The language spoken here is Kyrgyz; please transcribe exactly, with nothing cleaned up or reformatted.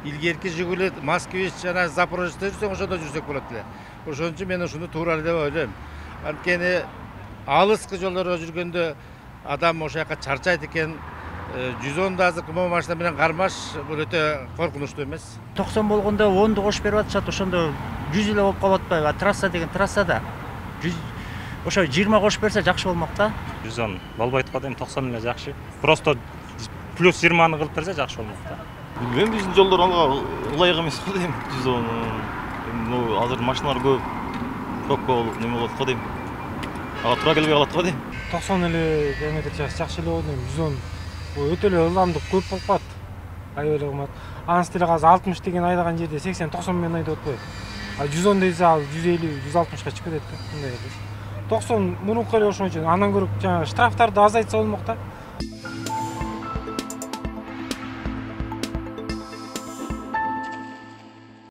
илгерки Жигули, Москвич жана Запорожецте жүрсөң ошондо жүрсөк болот эле. Ошон үчүн мен ушуну туура эле деп ойлойм. Анткени алыскы жолдордо жүргөндө адам ошол жака чарчайт экен. жүз он да азыркы могу машина менен кармаш бул өтө коркунучтуу эмес. токсон болгондо онду кошуп берип атышат, ошондо жүз эле болуп калып атпайбы? Трасса деген трассада ошо жыйырма кошуп берсе жакшы болмок да. жүз он болбойт го дейм, токсон эле жакшы. Просто плюс жыйырманы кылып берсе жакшы болмок да. Билбейм, биздин жолдор алга ылайык эмес го дейм. жүз он азыр машиналар көп, пробка болуп неме болот го дейм. Ага туура келбей калат го дейм. токсон эле диаметр жакшы эле болот дейм. жүз он өтө эле ылдамдык көп болуп калат. Аябай эле кымбат. Анын стили азыр алтымыш деген айдаган жерде сексен токсон менен айдап атпайбы? А жүз он десе ал жүз элүү жүз алтымышка чыгып кетет да. Мындай эле. токсон мурунку эле ошон үчүн андан көрө жаңы штрафтарды азайтса болмок да.